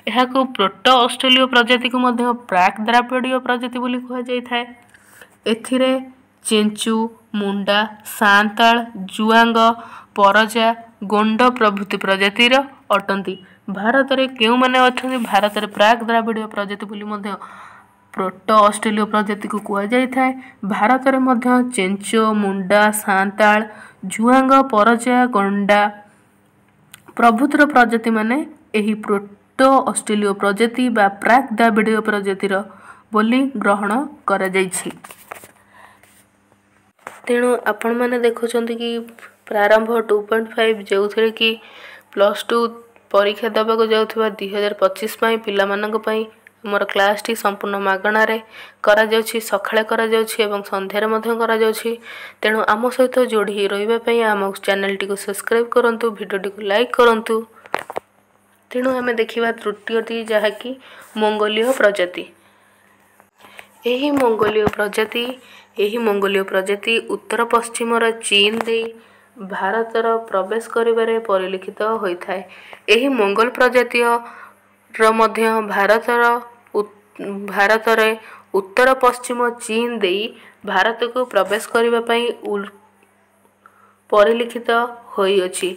ଏହାକୁ ପ୍ରୋଟୋ ଅଷ୍ଟ୍ରେଲୀୟ ପ୍ରଜାତିକୁ ମଧ୍ୟ ପ୍ରାକ୍ ଦ୍ରାବିଡ଼ୀୟ ପ୍ରଜାତି ବୋଲି କୁହାଯାଇଥାଏ। ଏଥିରେ ଚେଞ୍ଚୁ, ମୁଣ୍ଡା, ସାନ୍ତାଳ, ଜୁଆଙ୍ଗ, ପରଜା, ଗୋଣ୍ଡ ପ୍ରଭୃତି ପ୍ରଜାତିର ଅଟନ୍ତି। ଭାରତରେ କେଉଁମାନେ ଅଛନ୍ତି? ଭାରତରେ ପ୍ରାକ୍ ଦ୍ରାବିଡ଼ୀୟ ପ୍ରଜାତି ବୋଲି ମଧ୍ୟ ପ୍ରୋଟୋ ଅଷ୍ଟ୍ରେଲୀୟ ପ୍ରଜାତିକୁ କୁହାଯାଇଥାଏ। ଭାରତରେ ମଧ୍ୟ ଚେଞ୍ଚୋ, ମୁଣ୍ଡା, ସାନ୍ତାଳ, ଜୁଆଙ୍ଗ, ପରଜା, ଗଣ୍ଡା ପ୍ରଭୃତିର ପ୍ରଜାତିମାନେ ଏହି ପ୍ରୋଟୋ ଅଷ୍ଟ୍ରେଲୀୟ ପ୍ରଜାତି ବା ପ୍ରାକ୍ ଦ୍ରାବିଡ଼ୀୟ ପ୍ରଜାତିର ବୋଲି ଗ୍ରହଣ କରାଯାଇଛି। ତେଣୁ ଆପଣମାନେ ଦେଖୁଛନ୍ତି କି ପ୍ରାରମ୍ଭ 2.5, ଯେଉଁଥିରେ କି +2 ପରୀକ୍ଷା ଦେବାକୁ ଯାଉଥିବା 2025 ପାଇଁ ପିଲାମାନଙ୍କ ପାଇଁ ଆମର କ୍ଲାସ୍ଟି ସମ୍ପୂର୍ଣ୍ଣ ମାଗଣାରେ କରାଯାଉଛି, ସକାଳେ କରାଯାଉଛି ଏବଂ ସନ୍ଧ୍ୟାରେ ମଧ୍ୟ କରାଯାଉଛି। ତେଣୁ ଆମ ସହିତ ଯୋଡ଼ି ହୋଇ ରହିବା ପାଇଁ ଆମ ଚ୍ୟାନେଲଟିକୁ ସବସ୍କ୍ରାଇବ୍ କରନ୍ତୁ, ଭିଡ଼ିଓଟିକୁ ଲାଇକ୍ କରନ୍ତୁ। ତେଣୁ ଆମେ ଦେଖିବା ତୃତୀୟଟି, ଯାହାକି ମଙ୍ଗୋଲୀୟ ପ୍ରଜାତି। ଏହି ମଙ୍ଗୋଲୀୟ ପ୍ରଜାତି ଉତ୍ତର ପଶ୍ଚିମର ଚୀନ ଦେଇ ଭାରତର ପ୍ରବେଶ କରିବାରେ ପରିଲିଖିତ ହୋଇଥାଏ। ଏହି ମଙ୍ଗୋଲ ପ୍ରଜାତିର ମଧ୍ୟ ଭାରତରେ ଉତ୍ତର ପଶ୍ଚିମ ଚୀନ ଦେଇ ଭାରତକୁ ପ୍ରବେଶ କରିବା ପାଇଁ ପରିଲିଖିତ ହୋଇଅଛି।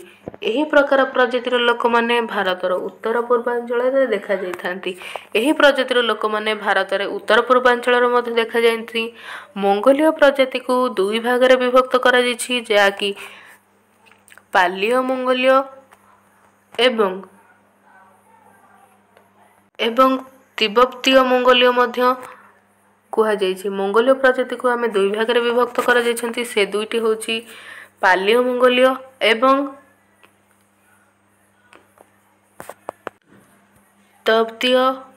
ଏହି ପ୍ରକାର ପ୍ରଜାତିର ଲୋକମାନେ ଭାରତର ଉତ୍ତର ପୂର୍ବାଞ୍ଚଳରେ ଦେଖାଯାଇଥାନ୍ତି। ଏହି ପ୍ରଜାତିର ଲୋକମାନେ ଭାରତରେ ଉତ୍ତର ପୂର୍ବାଞ୍ଚଳରେ ମଧ୍ୟ ଦେଖାଯାଆନ୍ତି। ମଙ୍ଗୋଲୀୟ ପ୍ରଜାତିକୁ ଦୁଇ ଭାଗରେ ବିଭକ୍ତ କରାଯାଇଛି, ଯାହାକି ପାଲିଓ ମଙ୍ଗୋଲୀୟ ଏବଂ ତିବ୍ବତୀୟ ମଙ୍ଗୋଲୀୟ ମଧ୍ୟ କୁହାଯାଇଛି। ମଙ୍ଗୋଲୀୟ ପ୍ରଜାତିକୁ ଆମେ ଦୁଇ ଭାଗରେ ବିଭକ୍ତ କରାଯାଇଛନ୍ତି। ସେ ଦୁଇଟି ହେଉଛି ପାଲିଓ ମଙ୍ଗୋଲୀୟ ଏବଂ ତିବ୍ବତୀୟ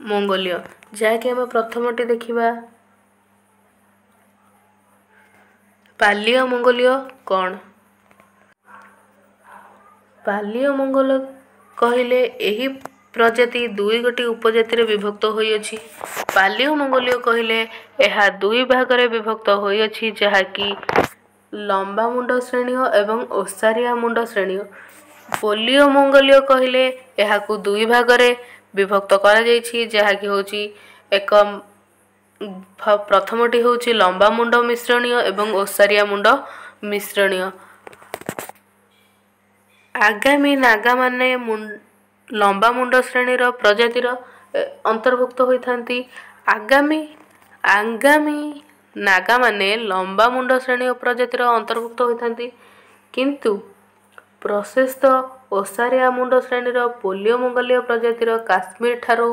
ମଙ୍ଗୋଲୀୟ। ଯାହାକି ଆମେ ପ୍ରଥମଟି ଦେଖିବା, ପାଲିଓ ମଙ୍ଗୋଲୀୟ କ'ଣ? ପାଲିଓ ମଙ୍ଗୋଲ କହିଲେ ଏହି ପ୍ରଜାତି ଦୁଇ ଗୋଟି ଉପଜାତିରେ ବିଭକ୍ତ ହୋଇଅଛି। ପାଲିଓ ମଙ୍ଗୋଲୀୟ କହିଲେ ଏହା ଦୁଇ ଭାଗରେ ବିଭକ୍ତ ହୋଇଅଛି, ଯାହାକି ଲମ୍ବା ମୁଣ୍ଡ ଶ୍ରେଣୀୟ ଏବଂ ଓସାରିଆ ମୁଣ୍ଡ ଶ୍ରେଣୀୟ। ପୋଲିଓ ମଙ୍ଗୋଲୀୟ କହିଲେ ଏହାକୁ ଦୁଇ ଭାଗରେ ବିଭକ୍ତ କରାଯାଇଛି, ଯାହାକି ହେଉଛି ଏକ ପ୍ରଥମଟି ହେଉଛି ଲମ୍ବା ମୁଣ୍ଡ ମିଶ୍ରଣୀୟ ଏବଂ ଓସାରିଆ ମୁଣ୍ଡ ମିଶ୍ରଣୀୟ। ଆଗାମୀ ନାଗାମାନେ ଲମ୍ବା ମୁଣ୍ଡ ଶ୍ରେଣୀର ପ୍ରଜାତିର ଅନ୍ତର୍ଭୁକ୍ତ ହୋଇଥାନ୍ତି। ଆଗାମୀ ନାଗାମାନେ ଲମ୍ବା ମୁଣ୍ଡ ଶ୍ରେଣୀ ପ୍ରଜାତିର ଅନ୍ତର୍ଭୁକ୍ତ ହୋଇଥାନ୍ତି, କିନ୍ତୁ ପ୍ରଶସ୍ତ ଓସାରିଆ ମୁଣ୍ଡ ଶ୍ରେଣୀର ପୋଲିଓ ମଙ୍ଗୋଲୀୟ ପ୍ରଜାତିର କାଶ୍ମୀର ଠାରୁ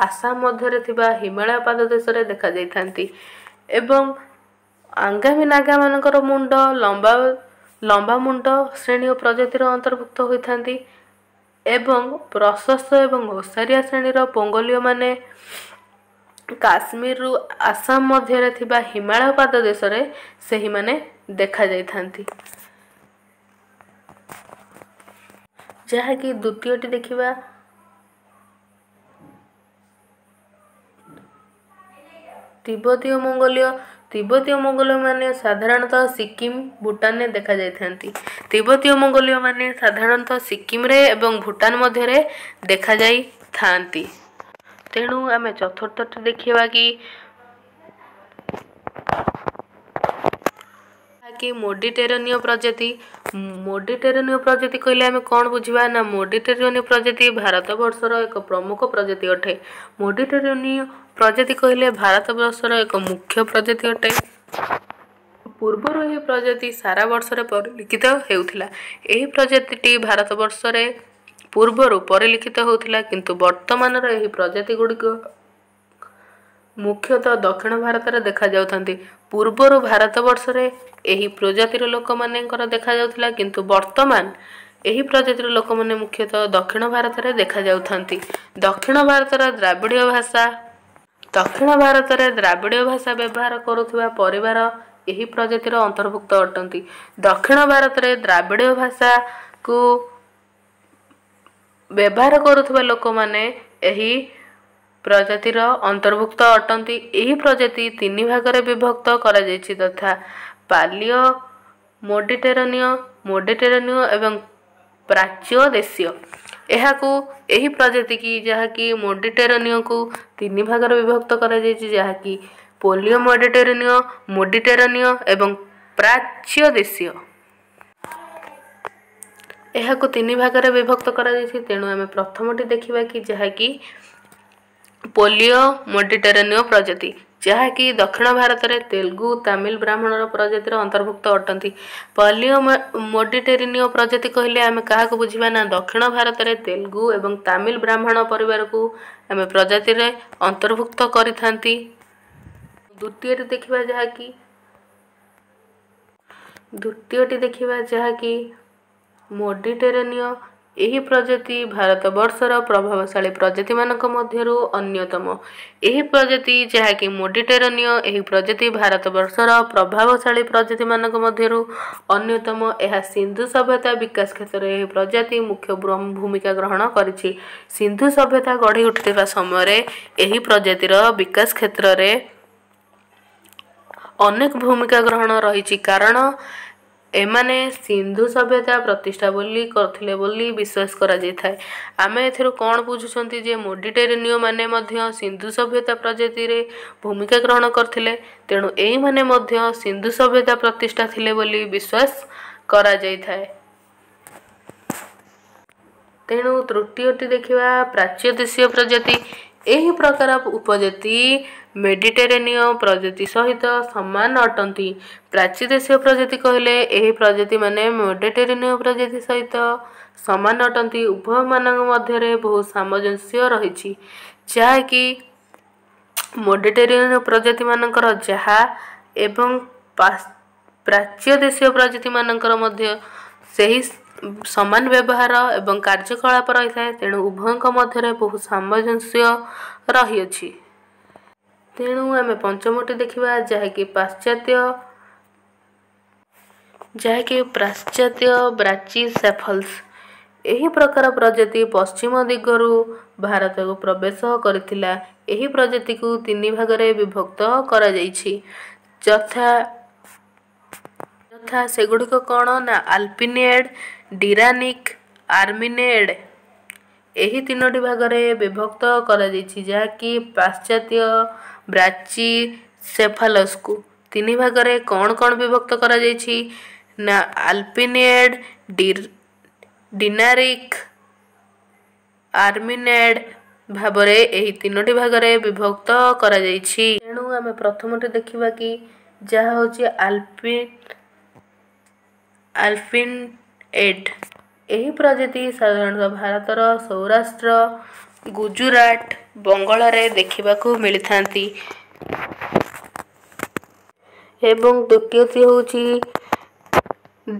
ଆସାମ ମଧ୍ୟରେ ଥିବା ହିମାଳୟ ପାଦଦେଶରେ ଦେଖାଯାଇଥାନ୍ତି। ଏବଂ ଆଙ୍ଗାମୀ ନାଗାମାନଙ୍କର ମୁଣ୍ଡ ଲମ୍ବା ମୁଣ୍ଡ ଶ୍ରେଣୀ ପ୍ରଜାତିର ଅନ୍ତର୍ଭୁକ୍ତ ହୋଇଥାନ୍ତି ଏବଂ ପ୍ରଶସ୍ତ ଏବଂ ଓସାରିଆ ଶ୍ରେଣୀର ପୋଙ୍ଗୋଲୀୟମାନେ କାଶ୍ମୀରରୁ ଆସାମ ମଧ୍ୟରେ ଥିବା ହିମାଳୟ ପାଦଦେଶରେ ସେହିମାନେ ଦେଖାଯାଇଥାନ୍ତି। ଯାହାକି ଦ୍ୱିତୀୟଟି ଦେଖିବା, ତିବ୍ବତୀୟ ମଙ୍ଗୋଲୀୟ। ତିବ୍ବତୀୟ ମଙ୍ଗୋଲୀୟମାନେ ସାଧାରଣତଃ ସିକିମ, ଭୁଟାନରେ ଦେଖାଯାଇଥାନ୍ତି। ତିବ୍ବତୀୟ ମଙ୍ଗୋଲୀୟମାନେ ସାଧାରଣତଃ ସିକିମରେ ଏବଂ ଭୁଟାନ ମଧ୍ୟରେ ଦେଖାଯାଇଥାନ୍ତି। ତେଣୁ ଆମେ ଚତୁର୍ଥଟି ଦେଖିବା କି ମୋଡିଟେରେନୀୟ ପ୍ରଜାତି। ମୋଡିଟେରେନୀୟ ପ୍ରଜାତି କହିଲେ ଆମେ କ'ଣ ବୁଝିବା ନା, ମୋଡିଟେରେନୀୟ ପ୍ରଜାତି ଭାରତବର୍ଷର ଏକ ପ୍ରମୁଖ ପ୍ରଜାତି ଅଟେ। ମୋଡିଟେରେନୀୟ ପ୍ରଜାତି କହିଲେ ଭାରତବର୍ଷର ଏକ ମୁଖ୍ୟ ପ୍ରଜାତି ଅଟେ। ପୂର୍ବରୁ ଏହି ପ୍ରଜାତି ସାରା ବର୍ଷରେ ପରିଲିଖିତ ହେଉଥିଲା। ଏହି ପ୍ରଜାତିଟି ଭାରତବର୍ଷରେ ପୂର୍ବରୁ ପରିଲିଖିତ ହେଉଥିଲା, କିନ୍ତୁ ବର୍ତ୍ତମାନର ଏହି ପ୍ରଜାତି ଗୁଡ଼ିକ ମୁଖ୍ୟତଃ ଦକ୍ଷିଣ ଭାରତରେ ଦେଖାଯାଉଥାନ୍ତି। ପୂର୍ବରୁ ଭାରତବର୍ଷରେ ଏହି ପ୍ରଜାତିର ଲୋକମାନଙ୍କର ଦେଖାଯାଉଥିଲା, କିନ୍ତୁ ବର୍ତ୍ତମାନ ଏହି ପ୍ରଜାତିର ଲୋକମାନେ ମୁଖ୍ୟତଃ ଦକ୍ଷିଣ ଭାରତରେ ଦେଖାଯାଉଥାନ୍ତି। ଦକ୍ଷିଣ ଭାରତର ଦ୍ରାବିଡ଼ୀୟ ଭାଷା ଦକ୍ଷିଣ ଭାରତରେ ଦ୍ରାବିଡ଼ୀୟ ଭାଷା ବ୍ୟବହାର କରୁଥିବା ପରିବାର ଏହି ପ୍ରଜାତିର ଅନ୍ତର୍ଭୁକ୍ତ ଅଟନ୍ତି। ଦକ୍ଷିଣ ଭାରତରେ ଦ୍ରାବିଡ଼ୀୟ ଭାଷାକୁ ବ୍ୟବହାର କରୁଥିବା ଲୋକମାନେ ଏହି ପ୍ରଜାତିର ଅନ୍ତର୍ଭୁକ୍ତ ଅଟନ୍ତି। ଏହି ପ୍ରଜାତି ତିନି ଭାଗରେ ବିଭକ୍ତ କରାଯାଇଛି, ତଥା ପାଲିଓ ମୋଡିଟେରେନୀୟ, ମୋଡିଟେରେନୀୟ ଏବଂ ପ୍ରାଚ୍ୟ ଦେଶୀୟ। ଏହାକୁ ଏହି ପ୍ରଜାତିକି, ଯାହାକି ମୋଡିଟେରେନୀୟକୁ ତିନି ଭାଗରେ ବିଭକ୍ତ କରାଯାଇଛି, ଯାହାକି ପୋଲିଓ ମେଡିଟେରେନୀୟ, ମୋଡିଟେରେନୀୟ ଏବଂ ପ୍ରାଚ୍ୟ ଦେଶୀୟ। ଏହାକୁ ତିନି ଭାଗରେ ବିଭକ୍ତ କରାଯାଇଛି। ତେଣୁ ଆମେ ପ୍ରଥମଟି ଦେଖିବା କି ଯାହାକି ପୋଲିଓ ମେଡିଟେରେନୀୟ ପ୍ରଜାତି, ଯାହାକି ଦକ୍ଷିଣ ଭାରତରେ ତେଲୁଗୁ, ତାମିଲ ବ୍ରାହ୍ମଣର ପ୍ରଜାତିର ଅନ୍ତର୍ଭୁକ୍ତ ଅଟନ୍ତି। ପଲିଓ ମେଡିଟେରେନୀୟ ପ୍ରଜାତି କହିଲେ ଆମେ କାହାକୁ ବୁଝିବା ନା, ଦକ୍ଷିଣ ଭାରତରେ ତେଲୁଗୁ ଏବଂ ତାମିଲ ବ୍ରାହ୍ମଣ ପରିବାରକୁ ଆମେ ପ୍ରଜାତିରେ ଅନ୍ତର୍ଭୁକ୍ତ କରିଥାନ୍ତି। ଦ୍ୱିତୀୟରେ ଦେଖିବା ଯାହାକି ଦ୍ୱିତୀୟଟି ଦେଖିବା ଯାହାକି ମୋଡିଟେରେନୀୟ। ଏହି ପ୍ରଜାତି ଭାରତବର୍ଷର ପ୍ରଭାବଶାଳୀ ପ୍ରଜାତିମାନଙ୍କ ମଧ୍ୟରୁ ଅନ୍ୟତମ। ଏହି ପ୍ରଜାତି ଯାହାକି ମେଡିଟେରେନୀୟ, ଏହି ପ୍ରଜାତି ଭାରତବର୍ଷର ପ୍ରଭାବଶାଳୀ ପ୍ରଜାତିମାନଙ୍କ ମଧ୍ୟରୁ ଅନ୍ୟତମ। ଏହା ସିନ୍ଧୁ ସଭ୍ୟତା ବିକାଶ କ୍ଷେତ୍ରରେ ଏହି ପ୍ରଜାତି ମୁଖ୍ୟ ଭୂମିକା ଗ୍ରହଣ କରିଛି। ସିନ୍ଧୁ ସଭ୍ୟତା ଗଢ଼ି ଉଠିଥିବା ସମୟରେ ଏହି ପ୍ରଜାତିର ବିକାଶ କ୍ଷେତ୍ରରେ ଅନେକ ଭୂମିକା ଗ୍ରହଣ ରହିଛି, କାରଣ ଏମାନେ ସିନ୍ଧୁ ସଭ୍ୟତା ପ୍ରତିଷ୍ଠା ବୋଲି କରିଥିଲେ ବୋଲି ବିଶ୍ୱାସ କରାଯାଇଥାଏ। ଆମେ ଏଥିରୁ କ'ଣ ବୁଝୁଛନ୍ତି ଯେ ମେଡିଟେରେନୀୟ ମାନେ ମଧ୍ୟ ସିନ୍ଧୁ ସଭ୍ୟତା ପ୍ରଜାତିରେ ଭୂମିକା ଗ୍ରହଣ କରିଥିଲେ। ତେଣୁ ଏଇମାନେ ମଧ୍ୟ ସିନ୍ଧୁ ସଭ୍ୟତା ପ୍ରତିଷ୍ଠା ଥିଲେ ବୋଲି ବିଶ୍ୱାସ କରାଯାଇଥାଏ। ତେଣୁ ତୃତୀୟଟି ଦେଖିବା, ପ୍ରାଚ୍ୟ ଦେଶୀୟ ପ୍ରଜାତି। ଏହି ପ୍ରକାର ଉପଜାତି ମେଡିଟେରେନୀୟ ପ୍ରଜାତି ସହିତ ସମାନ ଅଟନ୍ତି। ପ୍ରାଚ୍ୟ ଦେଶୀୟ ପ୍ରଜାତି କହିଲେ ଏହି ପ୍ରଜାତିମାନେ ମେଡିଟେରେନୀୟ ପ୍ରଜାତି ସହିତ ସମାନ ଅଟନ୍ତି। ଉଭୟମାନଙ୍କ ମଧ୍ୟରେ ବହୁ ସାମଞ୍ଜସ୍ୟ ରହିଛି, ଯାହାକି ମେଡିଟେରେନୀୟ ପ୍ରଜାତିମାନଙ୍କର ଯାହା ଏବଂ ପ୍ରାଚ୍ୟ ଦେଶୀୟ ପ୍ରଜାତିମାନଙ୍କର ମଧ୍ୟ ସେହି ସମାନ ବ୍ୟବହାର ଏବଂ କାର୍ଯ୍ୟକଳାପ ରହିଥାଏ। ତେଣୁ ଉଭୟଙ୍କ ମଧ୍ୟରେ ବହୁ ସାମଞ୍ଜସ୍ୟ ରହିଅଛି। ତେଣୁ ଆମେ ପଞ୍ଚମଟି ଦେଖିବା, ଯାହାକି ପାଶ୍ଚାତ୍ୟ ବ୍ରାଚିସେଫଲ୍ସ। ଏହି ପ୍ରକାର ପ୍ରଜାତି ପଶ୍ଚିମ ଦିଗରୁ ଭାରତକୁ ପ୍ରବେଶ କରିଥିଲା। ଏହି ପ୍ରଜାତିକୁ ତିନି ଭାଗରେ ବିଭକ୍ତ କରାଯାଇଛି, ଯଥା ସେଗୁଡ଼ିକ କ'ଣ ନା ଆଲପିନିଏଡ୍, ଡିରାନିକ୍, ଆର୍ମିନେଡ୍। ଏହି ତିନୋଟି ଭାଗରେ ବିଭକ୍ତ କରାଯାଇଛି, ଯାହାକି ପାଶ୍ଚାତ୍ୟ ବ୍ରାଚିସେଫାଲସ୍କୁ ତିନି ଭାଗରେ କ'ଣ କ'ଣ ବିଭକ୍ତ କରାଯାଇଛି ନା ଆଲପିନିଏଡ୍, ଡିନାରିକ୍, ଆର୍ମିନେଡ୍ ଭାବରେ ଏହି ତିନୋଟି ଭାଗରେ ବିଭକ୍ତ କରାଯାଇଛି। ତେଣୁ ଆମେ ପ୍ରଥମଟି ଦେଖିବା କି ଯାହା ହେଉଛି ଆଲପିନଏଡ୍। ଏହି ପ୍ରଜାତି ସାଧାରଣତଃ ଭାରତର ସୌରାଷ୍ଟ୍ର, ଗୁଜୁରାଟ, ବଙ୍ଗଳାରେ ଦେଖିବାକୁ ମିଳିଥାନ୍ତି। ଏବଂ ଦ୍ୱିତୀୟଟି ହେଉଛି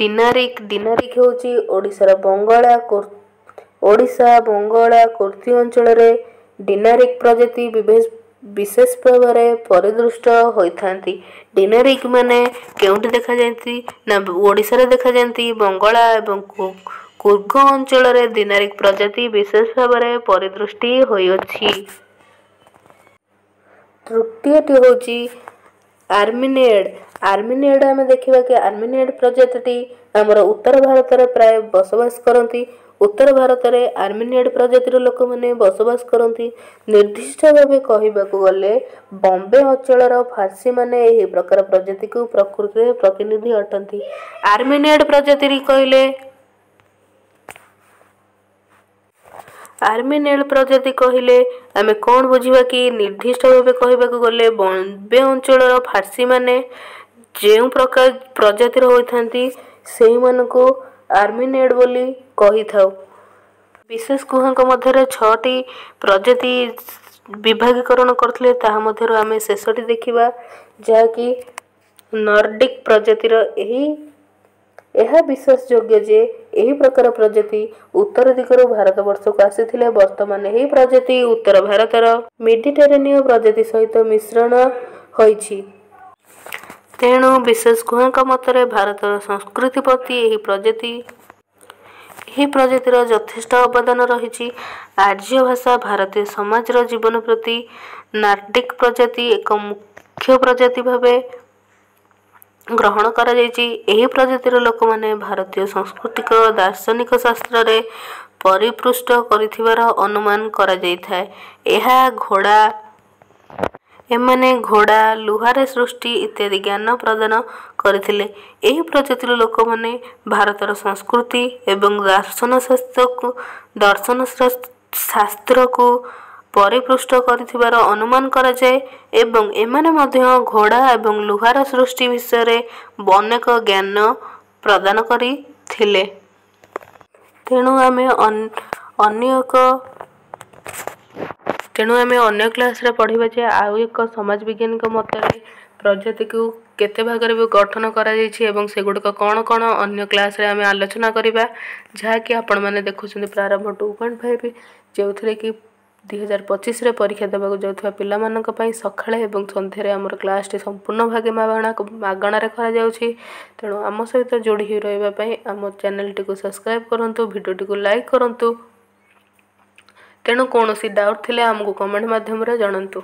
ଡିନାରିକ୍। ଡିନାରିକ୍ ହେଉଛି ଓଡ଼ିଶାର ବଙ୍ଗଳା, ଓଡ଼ିଶା, ବଙ୍ଗଳା, କୁର୍ତ୍ତୀ ଅଞ୍ଚଳରେ ଡିନାରିକ୍ ପ୍ରଜାତି ବିଶେଷ ଭାବରେ ପରିଦୃଷ୍ଟ ହୋଇଥାନ୍ତି। ଡିନାରିକ୍ ମାନେ କେଉଁଠି ଦେଖାଯାଆନ୍ତି ନା ଓଡ଼ିଶାରେ ଦେଖାଯାଆନ୍ତି। ବଙ୍ଗଳା ଏବଂ କୁର୍ଗ ଅଞ୍ଚଳରେ ଦିନାରିକ୍ ପ୍ରଜାତି ବିଶେଷ ଭାବରେ ପରିଦୃଷ୍ଟି ହୋଇଅଛି। ତୃତୀୟଟି ହେଉଛି ଆର୍ମିନେଡ୍। ଆର୍ମିନେଡ୍ ଆମେ ଦେଖିବା କି ଆର୍ମିନେଡ୍ ପ୍ରଜାତିଟି ଆମର ଉତ୍ତର ଭାରତରେ ପ୍ରାୟ ବସବାସ କରନ୍ତି। ଉତ୍ତର ଭାରତରେ ଆର୍ମିନେଡ୍ ପ୍ରଜାତିର ଲୋକମାନେ ବସବାସ କରନ୍ତି। ନିର୍ଦ୍ଦିଷ୍ଟ ଭାବେ କହିବାକୁ ଗଲେ ବମ୍ବେ ଅଞ୍ଚଳର ଫାର୍ସୀମାନେ ଏହି ପ୍ରକାର ପ୍ରଜାତିକୁ ପ୍ରକୃତିରେ ପ୍ରତିନିଧି ଅଟନ୍ତି। ଆର୍ମିନେଡ୍ ପ୍ରଜାତି କହିଲେ, ଆର୍ମିନେଡ୍ ପ୍ରଜାତି କହିଲେ ଆମେ କ'ଣ ବୁଝିବା କି ନିର୍ଦ୍ଦିଷ୍ଟ ଭାବେ କହିବାକୁ ଗଲେ ବମ୍ବେ ଅଞ୍ଚଳର ଫାର୍ସୀମାନେ ଯେଉଁ ପ୍ରକାର ପ୍ରଜାତିର ହୋଇଥାନ୍ତି, ସେହିମାନଙ୍କୁ ଆର୍ମିନେଡ୍ ବୋଲି କହିଥାଉ। ବିଶେଷ ଗୁହାଙ୍କ ମଧ୍ୟରେ 6ଟି ପ୍ରଜାତି ବିଭାଗୀକରଣ କରିଥିଲେ, ତାହା ମଧ୍ୟରୁ ଆମେ ଶେଷଟି ଦେଖିବା, ଯାହାକି ନର୍ଡିକ୍ ପ୍ରଜାତିର। ଏହି ଏହା ବିଶ୍ୱାସଯୋଗ୍ୟ ଯେ ଏହି ପ୍ରକାର ପ୍ରଜାତି ଉତ୍ତର ଦିଗରୁ ଭାରତବର୍ଷକୁ ଆସିଥିଲେ। ବର୍ତ୍ତମାନ ଏହି ପ୍ରଜାତି ଉତ୍ତର ଭାରତର ମେଡିଟେରେନୀୟ ପ୍ରଜାତି ସହିତ ମିଶ୍ରଣ ହୋଇଛି। ତେଣୁ ବିଶେଷ ଗୁହାଙ୍କ ମତରେ ଭାରତର ସଂସ୍କୃତି ପ୍ରତି ଏହି ପ୍ରଜାତିର ଯଥେଷ୍ଟ ଅବଦାନ ରହିଛି। ଆର୍ଯ୍ୟ ଭାଷା ଭାରତୀୟ ସମାଜର ଜୀବନ ପ୍ରତି ନାର୍ଡିକ୍ ପ୍ରଜାତି ଏକ ମୁଖ୍ୟ ପ୍ରଜାତି ଭାବେ ଗ୍ରହଣ କରାଯାଇଛି। ଏହି ପ୍ରଜାତିର ଲୋକମାନେ ଭାରତୀୟ ସାଂସ୍କୃତିକ ଦାର୍ଶନିକ ଶାସ୍ତ୍ରରେ ପରିପୃଷ୍ଟ କରିଥିବାର ଅନୁମାନ କରାଯାଇଥାଏ। ଏହା ଘୋଡ଼ା, ଏମାନେ ଘୋଡ଼ା, ଲୁହାରେ ସୃଷ୍ଟି ଇତ୍ୟାଦି ଜ୍ଞାନ ପ୍ରଦାନ କରିଥିଲେ। ଏହି ପ୍ରଜାତିର ଲୋକମାନେ ଭାରତର ସଂସ୍କୃତି ଏବଂ ଦର୍ଶନ ଶାସ୍ତ୍ରକୁ ପରିପୃଷ୍ଟ କରିଥିବାର ଅନୁମାନ କରାଯାଏ ଏବଂ ଏମାନେ ମଧ୍ୟ ଘୋଡ଼ା ଏବଂ ଲୁହାର ସୃଷ୍ଟି ବିଷୟରେ ଅନେକ ଜ୍ଞାନ ପ୍ରଦାନ କରିଥିଲେ। ତେଣୁ ଆମେ ଅନ୍ୟ କ୍ଲାସ୍ରେ ପଢ଼ିବା ଯେ ଆଉ ଏକ ସମାଜ ବିଜ୍ଞାନୀଙ୍କ ମତରେ ପ୍ରଜାତିକୁ କେତେ ଭାଗରେ ବି ଗଠନ କରାଯାଇଛି ଏବଂ ସେଗୁଡ଼ିକ କ'ଣ କ'ଣ, ଅନ୍ୟ କ୍ଲାସ୍ରେ ଆମେ ଆଲୋଚନା କରିବା। ଯାହାକି ଆପଣମାନେ ଦେଖୁଛନ୍ତି ପ୍ରାରମ୍ଭ 2.5, ଯେଉଁଥିରେ କି 2025ରେ ପରୀକ୍ଷା ଦେବାକୁ ଯାଉଥିବା ପିଲାମାନଙ୍କ ପାଇଁ ସକାଳେ ଏବଂ ସନ୍ଧ୍ୟାରେ ଆମର କ୍ଲାସ୍ଟି ସମ୍ପୂର୍ଣ୍ଣ ଭାବେ ମାଗଣାରେ କରାଯାଉଛି। ତେଣୁ ଆମ ସହିତ ଯୋଡ଼ି ହୋଇ ରହିବା ପାଇଁ ଆମ ଚ୍ୟାନେଲଟିକୁ ସବସ୍କ୍ରାଇବ୍ କରନ୍ତୁ, ଭିଡ଼ିଓଟିକୁ ଲାଇକ୍ କରନ୍ତୁ। ତେଣୁ କୌଣସି ଡାଉଟ୍ ଥିଲେ ଆମକୁ କମେଣ୍ଟ ମାଧ୍ୟମରେ ଜଣାନ୍ତୁ।